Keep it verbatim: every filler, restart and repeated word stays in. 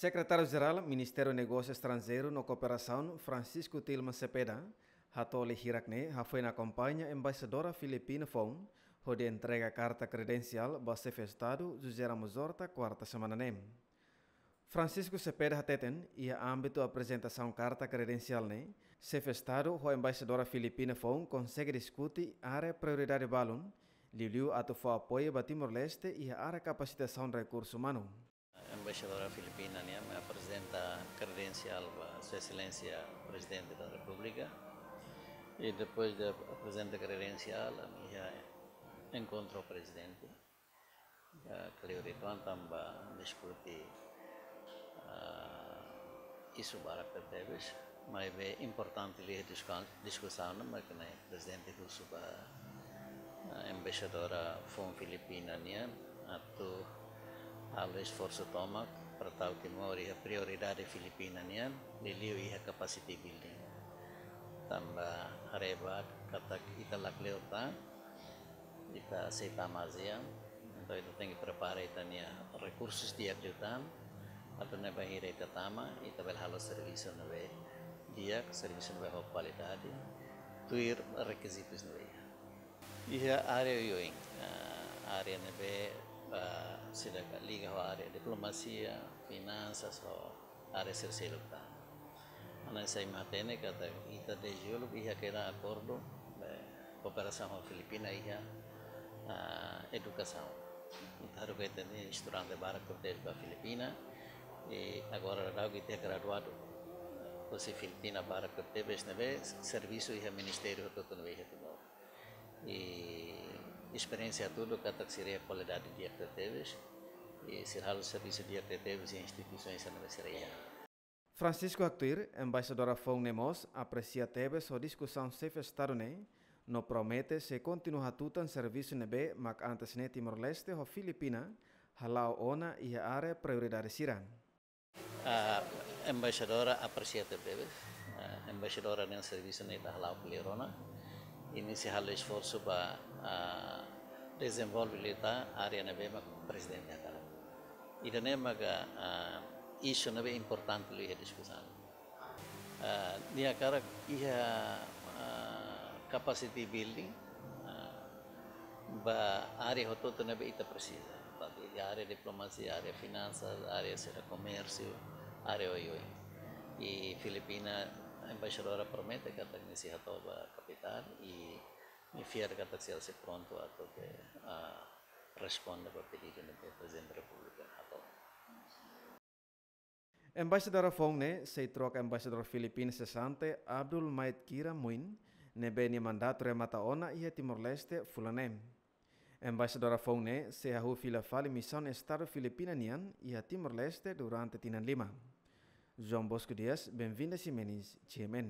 Sekretáriu-Jerál Ministériu Negósiu Estranjeiru no Kooperasaun, Francisco Tilman Cepeda, hato'o lia hirak ne'e hafoin akompaña Embaixadora Filipina foun hodi entrega karta kredensiál ba Xefe Estadu José Ramos Horta kuarta semana ne'e. Francisco Cepeda hateten, iha ámbitu aprezentasaun karta kredensiál ne'e, Xefe Estadu ho Embaixadora Filipina foun konsege diskute área prioridade balun, liuliu atu fó apoiu ba Timor-Leste iha área kapasitasaun rekursu umanu. Embaixadora Filipina nian aprezenta kredensiál ba Sua Exelénsia Prezidente da Repúblika. I depois de aprezenta kredensiál, ami iha enkontru ho Prezidente. Ah, kleur uitoan tanba diskute, ah, isu barak tebes, maibé importante liu disku-, diskusaun ne'e mak ne'e Prezidente husu ba, ah, Embaixadora foun Filipina nian atu halo esforsu tomak para tau Timor iha prioridade Filipina nian, liuliu iha capacity building. Tanba haree ba katak ita la kleur tan, ita sei tama ASEAN, entaun ita tenke prepara ita-nia rekursus di'ak liután, atu nune'e bainhira ita tama, ita bele halo servisu ne'ebé di'ak, servisu ne'ebé ho kualidade, tuir rekizitus ne'ebé iha. Iha área oioin, ah, área ne'ebé, ah, seidauk liga ho área diplomasia, finansas, ho área sira seluk tan. Hanesan imi hatene katak ita dezde uluk iha kedan akordu, eh, kooperasaun ho Filipina iha, ah, edukasaun. Ita haruka ita-nia estudante barak tebes ba Filipina, i agora daudaun ita iha graduadu husi Filipina barak tebes ne'ebé servisu iha ministériu hotu-hotu ne'ebé iha Timor. I esperiénsia hatudu katak sira iha kualidade di'ak tebes, i sira halo servisu di'ak tebes iha instituisaun sira ne'ebé sira iha. Francisco haktuir, Embaixadora foun ne'e mós apresia tebes ho diskusaun Xefe Estadu ne'e, no promete sei kontinua hatutan servisu ne'ebé mak antes ne'e Timor-Leste ho Filipina hala'o ona iha área prioridade sira. Ah, Embaixadora apresia tebes, ah, Embaixadora nian servisu ne'e ita hala'o kleur ona, i nia sei halo esforsu ba, ah, dezenvolve liután área ne'ebé mak Prezidente hakarak. Ida-ne'e maka, ah, isu ne'ebé importante liu iha diskusaun. Ah, nia hakarak iha, ah, capacity building, ah, ba área hotu-hotu ne'ebé ita presiza. Tantu iha área diplomasia, área finansas, área sira komérsiu, área oioin. I Filipina, Embaixadora promete katak nia sei hato'o ba kapitál, i nia fiar katak sira sei prontu atu ke, ah, responde ba pedidu ne'ebé Prezidente Repúblika hato'o. Embaixadora foun ne'e sei troka Embaixadór Filipina sesante Abdul Maid Kira Muin, ne'ebé nia mandatu remata ona iha Timor-Leste fulan ne'e. Embaixadora foun ne'e sei hahú fila fali misaun Estadu Filipina nian iha Timor-Leste durante tinan lima. João Bosco Dias, Benvinda Ximenes, G M N.